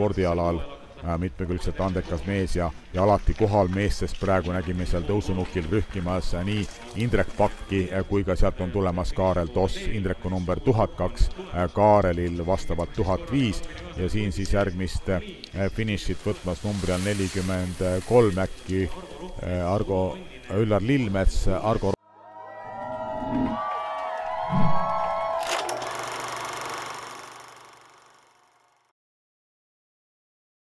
spordialal mitmekülgselt andekas mees ja alati kohal mees, sest praegu nägime seal tõusunukil rühkimas nii Indrek Pakki kui ka sealt on tulemas Kaarel Toss. Indreku number 1002, Kaarelil vastavalt 1005 ja siin siis järgmist finišit võtmas numbri all 43 äkki Üllar Lillmets, Argo